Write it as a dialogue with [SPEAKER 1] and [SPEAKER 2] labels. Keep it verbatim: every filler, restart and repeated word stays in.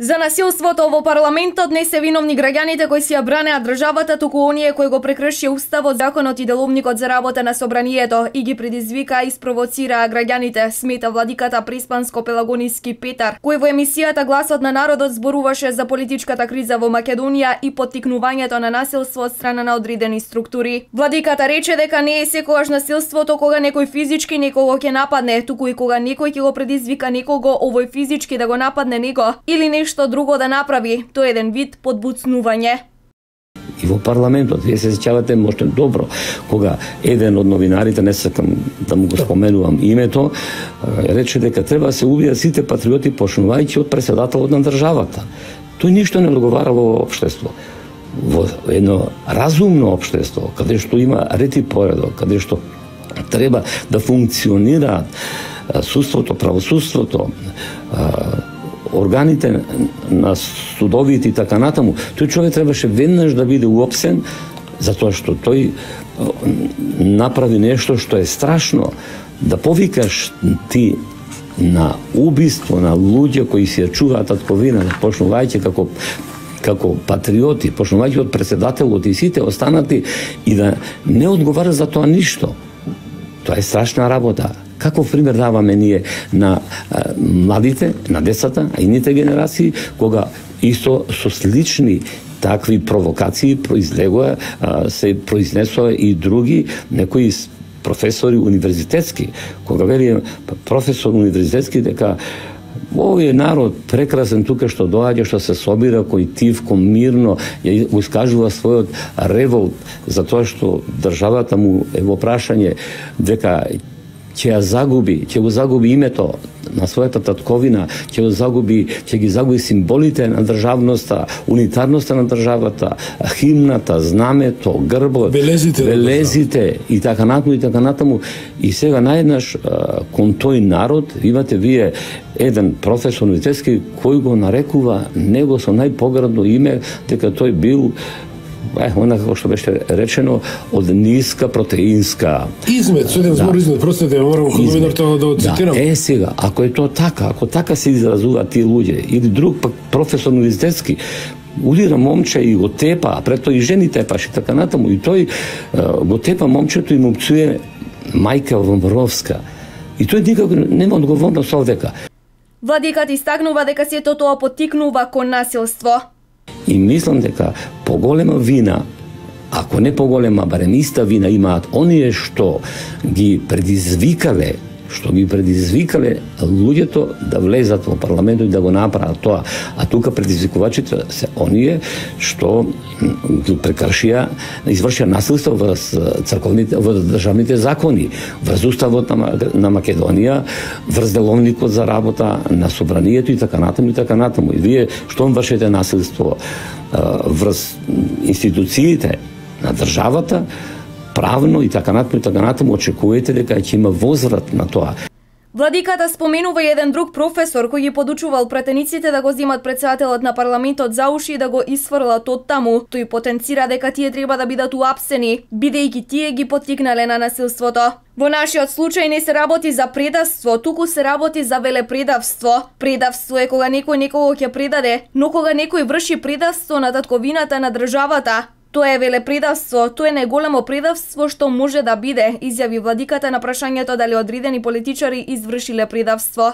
[SPEAKER 1] За насилството во парламентот не се виновни граѓаните кои си ја бранеа државата, туку оние кои го прекршија уставот, законот и деловникот за работа на собранието и ги предизвика и спровоцираа граѓаните, смета владиката Преспанско-Пелагониски Петар, кој во емисијата Гласот на народот зборуваше за политичката криза во Македонија и поттикнувањето на насилство од страна на одредени структури. Владиката рече дека не е секогаш насилството кога некој физички некого ќе нападне, туку и кога некој ќе го предизвика некого овој физички да го нападне него или нешто што друго да направи, тоа е еден вид подбуцнување.
[SPEAKER 2] И во парламентот, вие се сеќавате можете добро, кога еден од новинарите, не сакам да му го споменувам името, рече дека треба да се убијат сите патриоти почнувајќи од претседателот на државата. Тој ништо не одговара во општество. Во едно разумно општество, каде што има ред и поредок, каде што треба да функционираат судството, правосудството, органите на судовите и така натаму, тој човек требаше веднаш да биде уопсен, затоа што тој направи нешто што е страшно. Да повикаш ти на убиство на луѓе кои си ја чуваат татковина, почнувајќи како како патриоти, почнувајќи од претседателот и сите останати, и да не одговара за тоа ништо. Тоа е страшна работа. Каков пример даваме ние на а, младите, на децата, а и ните генерации, кога исто со слични такви провокации произлегува, а, се произнесува и други некои професори универзитетски, кога вели професор универзитетски дека овој народ прекрасен тука што доаѓа, што се собира кој тивко, мирно, ја го искажува својот револт за тоа што државата му е во прашање дека ќе ја загуби, ќе го загуби името на својата татковина, ќе го загуби, ќе ги загуби символите на државноста, унитарноста на државата, химната, знамето, грбот,
[SPEAKER 3] белезите,
[SPEAKER 2] белезите и така натаму и така натаму. И сега наеднаш кон тој народ имате вие еден професор универзитетски кој го нарекува него со најпоградно име дека тој бил Е, она како што беше речено, од ниска протеинска.
[SPEAKER 3] Измет, со еден збор измет, простете, морам како новинар тоа да го цитирам.
[SPEAKER 2] Да, е сега, ако е тоа така, ако така се изразуваат тие луѓе, или друг пак професор универзитетски, удира момче и го тепа, а пред тој и жени тепаш и така натаму, и тој го тепа момчето и му пцуе мајка Вомбровска. И тој никако нема одговорност овдека.
[SPEAKER 1] Владикат истакнува дека сето тоа поттикнува кон насилство.
[SPEAKER 2] И мислам дека поголема вина, ако не поголема, барем иста вина имаат оние што ги предизвикале, што ги предизвикале луѓето да влезат во парламентот и да го направат тоа. А тука предизвикувачите се оние што ги прекршија, извршија насилство врз црковните, врз државните закони, врз уставот на, на Македонија, врз деловникот за работа на собранието и така натаму и така натаму. И вие што вршите насилство врз институциите на државата, правно и така натаму и така натаму, очекувате дека ќе има возврат на тоа.
[SPEAKER 1] Владиката споменува и еден друг професор кој ги подучувал пратениците да го земат претседателот на парламентот за уши и да го исфрлат од таму. Тој потенцира дека тие треба да бидат уапсени, бидејќи тие ги поттикнале на насилството. Во нашиот случај не се работи за предавство, туку се работи за велепредавство. Предавство е кога некој некого ќе предаде, но кога некој врши предавство на татковината на државата, тоа е велепредавство, тоа е најголемо предавство што може да биде, изјави владиката на прашањето дали одредени политичари извршиле предавство.